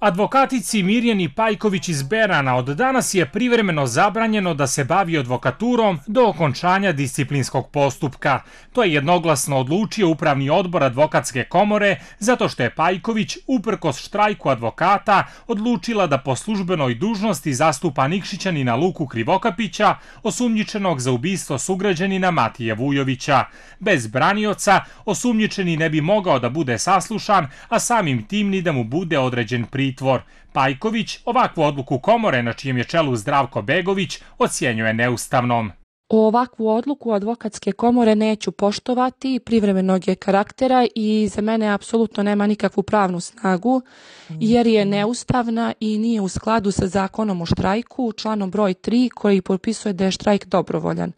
Advokatici Mirjani Pajković iz Berana od danas je privremeno zabranjeno da se bavi advokaturom do okončanja disciplinskog postupka. To je jednoglasno odlučio Upravni odbor Advokatske komore zato što je Pajković, uprkos štrajku advokata, odlučila da po službenoj dužnosti zastupa Nikšićanina Luku Krivokapića, osumnjičenog za ubistvo sugrađanina Matije Vujovića. Bez branioca osumnjičeni ne bi mogao da bude saslušan, a samim tim ni da mu bude određen pritvor. Pajković ovakvu odluku komore, na čijem je čelu Zdravko Begović, ocjenjuje neustavnom. Ovakvu odluku Advokatske komore neću poštovati, privremenog je karaktera i za mene apsolutno nema nikakvu pravnu snagu, jer je neustavna i nije u skladu sa zakonom o štrajku, članom broj 3, koji propisuje da je štrajk dobrovoljan.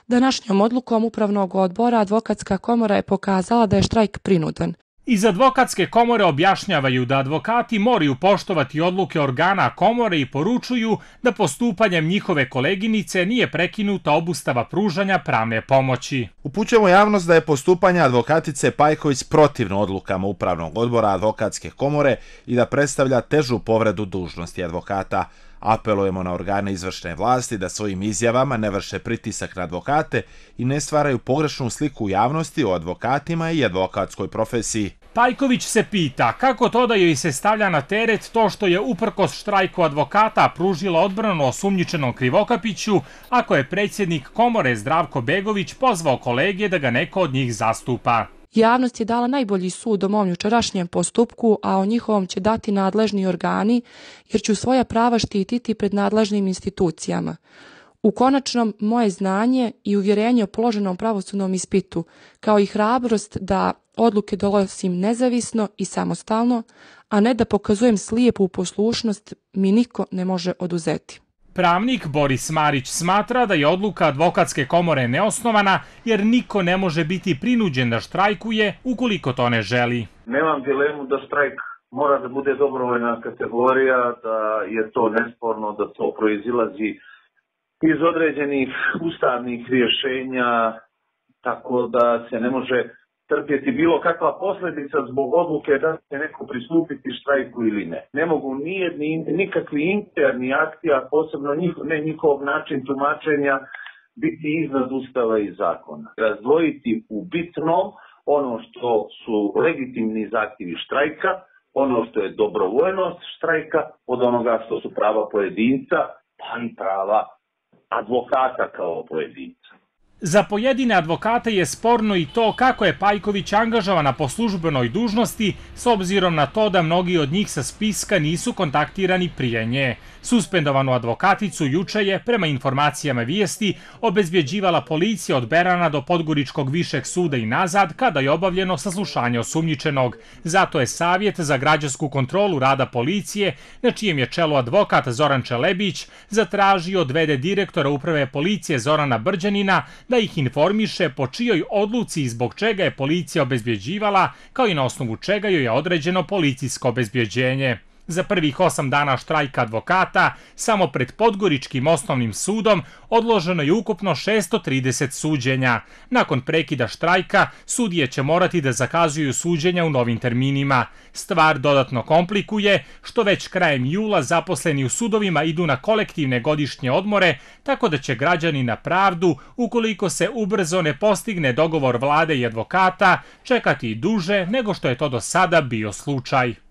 Današnjom odlukom Upravnog odbora Advokatska komora je pokazala da je štrajk prinudan. Iz Advokatske komore objašnjavaju da advokati moraju poštovati odluke organa komore i poručuju da postupanjem njihove koleginice nije prekinuta obustava pružanja pravne pomoći. Upućujemo javnost da je postupanje advokatice Pajković protivno odlukama Upravnog odbora Advokatske komore i da predstavlja težu povredu dužnosti advokata. Apelujemo na organe izvršne vlasti da svojim izjavama ne vrše pritisak na advokate i ne stvaraju pogrešnu sliku u javnosti o advokatima i advokatskoj profesiji. Pajković se pita kako to da joj se stavlja na teret to što je uprkos štrajku advokata pružila odbranu osumnjičenom Krivokapiću, ako je predsjednik komore Zdravko Begović pozvao kolege da ga neko od njih zastupa. Javnost je dala najbolji sud o mom jučerašnjem postupku, a o njihovom će dati nadležni organi, jer ću svoja prava štititi pred nadležnim institucijama. U konačnom, moje znanje i uvjerenje o položenom pravosudnom ispitu, kao i hrabrost da odluke donosim nezavisno i samostalno, a ne da pokazujem slijepu poslušnost, mi niko ne može oduzeti. Pravnik Boris Marić smatra da je odluka Advokatske komore neosnovana jer niko ne može biti prinuđen da štrajkuje ukoliko to ne želi. Nemam dilemu da štrajk mora da bude dobrovoljna kategorija, da je to nesporno, da to proizilazi iz određenih ustavnih rješenja, tako da se ne može trpjeti bilo kakva posljedica zbog odluke da će neko pristupiti štrajku ili ne. Ne mogu nikakvi interni akti, a posebno njihov način tumačenja, biti iznad ustava i zakona. Razdvojiti u bitnom ono što su legitimni zahtjevi štrajka, ono što je dobrovoljnost štrajka, od onoga što su prava pojedinca, pa i prava advokata kao pojedinca. Za pojedine advokate je sporno i to kako je Pajković angažovana po službenoj dužnosti, s obzirom na to da mnogi od njih sa spiska nisu kontaktirani prije nje. Suspendovanu advokaticu juče je, prema informacijama vijesti, obezbjeđivala policija od Berana do Podgoričkog višeg suda i nazad kada je obavljeno saslušanje osumnjičenog. Zato je Savjet za građansku kontrolu rada policije, na čijem je čelu advokat Zoran Čelebić, zatražio od v.d. direktora Uprave policije Zorana Brđanina da ih informiše po čijoj odluci i zbog čega je policija obezbjeđivala, kao i na osnovu čega joj je određeno policijsko obezbjeđenje. Za prvih 8 dana štrajka advokata, samo pred Podgoričkim osnovnim sudom odloženo je ukupno 630 suđenja. Nakon prekida štrajka, sudije će morati da zakazuju suđenja u novim terminima. Stvar dodatno komplikuje što već krajem jula zaposleni u sudovima idu na kolektivne godišnje odmore, tako da će građani na pravdu, ukoliko se ubrzo ne postigne dogovor vlade i advokata, čekati i duže nego što je to do sada bio slučaj.